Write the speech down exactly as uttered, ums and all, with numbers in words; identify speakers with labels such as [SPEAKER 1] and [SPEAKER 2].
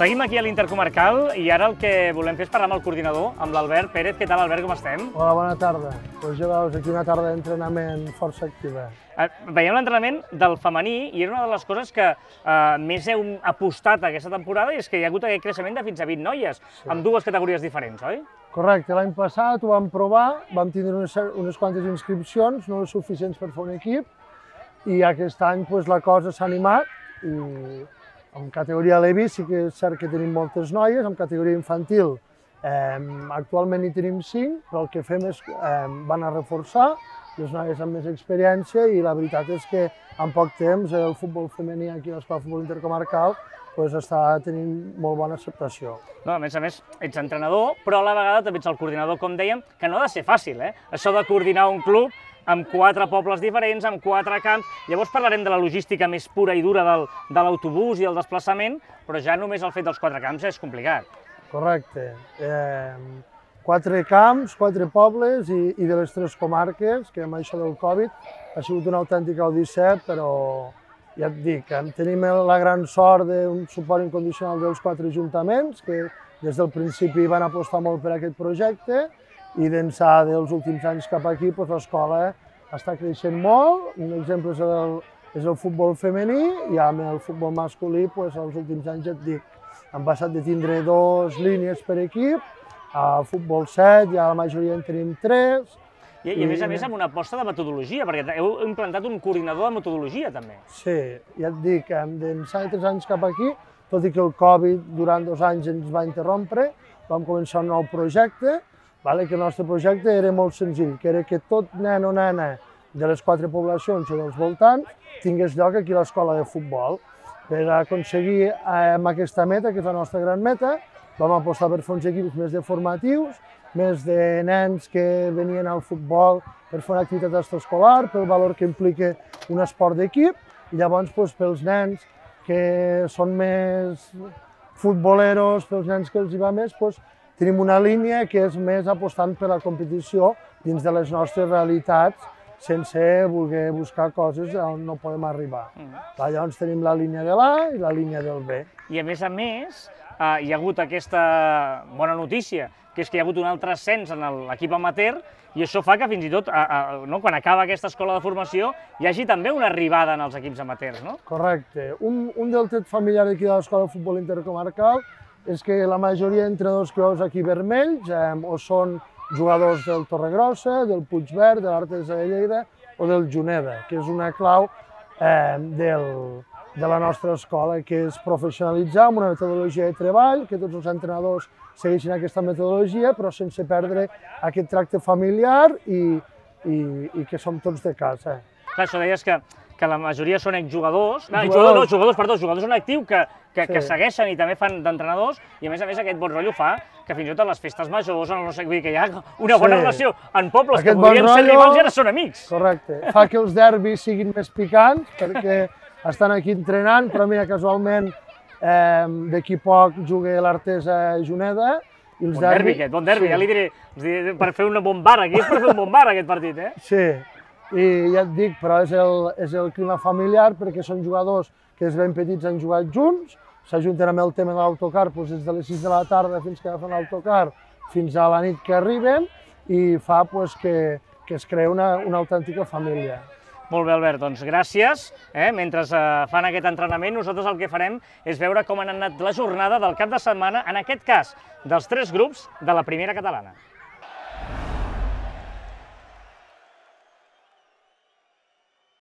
[SPEAKER 1] Seguim aquí a l'Intercomarcal i ara el que volem fer és parlar amb el coordinador, amb l'Albert Pérez. Què tal, Albert, com estem?
[SPEAKER 2] Hola, bona tarda. Doncs ja veus, aquí una tarda d'entrenament força activa.
[SPEAKER 1] Veiem l'entrenament del femení i era una de les coses que eh, més heu apostat aquesta temporada i és que hi ha hagut aquest creixement de fins a vint noies, sí, amb dues categories diferents, oi?
[SPEAKER 2] Correcte, l'any passat ho vam provar, vam tindre unes, unes quantes inscripcions, no suficients per fer un equip, i aquest any pues, la cosa s'ha animat i en categoria Levi sí que és cert que tenim moltes noies, en categoria infantil eh, actualment hi tenim cinc, però el que fem és eh, van a reforçar les noies amb més experiència i la veritat és que en poc temps el futbol femení aquí a l'Escola de Futbol Intercomarcal pues, està tenint molt bona acceptació.
[SPEAKER 1] No, a més a més, ets entrenador, però a la vegada també ets el coordinador, com dèiem, que no ha de ser fàcil, eh? Això de coordinar un club amb quatre pobles diferents, amb quatre camps. Llavors parlarem de la logística més pura i dura del, de l'autobús i el desplaçament, però ja només el fet dels quatre camps és complicat.
[SPEAKER 2] Correcte. Eh, quatre camps, quatre pobles i, i de les tres comarques, que amb això del Covid ha sigut una autèntica odissea, però ja et dic, tenim la gran sort d'un suport incondicional dels quatre ajuntaments, que des del principi van apostar molt per aquest projecte, i d'ençà dels últims anys cap aquí doncs, l'escola està creixent molt. Un exemple és el, és el futbol femení i amb el futbol masculí doncs, els últims anys ja et dic, hem passat de tindre dues línies per equip a futbol set, ja la majoria en tenim tres.
[SPEAKER 1] I, i a més a més amb una aposta de metodologia, perquè heu implantat un coordinador de metodologia també.
[SPEAKER 2] Sí, ja et dic, d'ençà de tres anys cap aquí, tot i que el Covid durant dos anys ens va interrompre, vam començar un nou projecte, vale, que el nostre projecte era molt senzill, que era que tot nen o nena de les quatre poblacions o dels voltants tingués lloc aquí a l'escola de futbol. Per aconseguir eh, aquesta meta, que és la nostra gran meta, vam apostar per fer uns equips més de formatius, més de nens que venien al futbol per fer una activitat extraescolar, pel valor que implica un esport d'equip, i llavors doncs, pels nens que són més futboleros, pels nens que els hi va més, doncs, tenim una línia que és més apostant per la competició dins de les nostres realitats, sense voler buscar coses on no podem arribar. Mm. Llavors tenim la línia de l'A i la línia del B.
[SPEAKER 1] I a més a més, eh, hi ha hagut aquesta bona notícia, que és que hi ha hagut un altre ascens en l'equip amateur, i això fa que fins i tot, a, a, no, quan acaba aquesta escola de formació, hi hagi també una arribada en els equips amateurs, no?
[SPEAKER 2] Correcte. Un, un del tret familiar d'aquí de l'Escola de Futbol Intercomarcal és que la majoria d'entrenadors que veus aquí vermells eh, o són jugadors del Torregrossa, del Puigverd, de l'Artesa de Lleida o del Juneda, que és una clau eh, del, de la nostra escola, que és professionalitzar amb una metodologia de treball, que tots els entrenadors segueixin aquesta metodologia, però sense perdre aquest tracte familiar i, i, i que som tots de casa.
[SPEAKER 1] Clar, això deies que, que la majoria són exjugadors, no, jugadors, no, jugadors, perdó, jugadors en actiu que, que, sí, que segueixen i també fan d'entrenadors, i a més a més aquest bon rotllo fa que fins i tot a les festes majors, no sé, vull dir que hi ha una bona sí, relació en pobles aquest que podrien bon ser rotllo, rivals i ara són amics.
[SPEAKER 2] Correcte, fa que els derbis siguin més picants, perquè estan aquí entrenant, però mira, casualment eh, d'aquí poc juga l'Artesa Juneda. I els
[SPEAKER 1] bon derbi, derbi aquest, bon derbi, sí, ja li diré, per fer un bon bar, aquí és per fer un bon bar aquest partit, eh?
[SPEAKER 2] Sí, i ja et dic, però és el, és el clima familiar perquè són jugadors que des ben petits han jugat junts, s'ajunten amb el tema de l'autocar doncs des de les sis de la tarda fins que agafen l'autocar fins a la nit que arriben i fa doncs, que, que es crea una, una autèntica família.
[SPEAKER 1] Molt bé, Albert, doncs gràcies. Eh? Mentre eh, fan aquest entrenament, nosaltres el que farem és veure com han anat la jornada del cap de setmana, en aquest cas, dels tres grups de la primera catalana.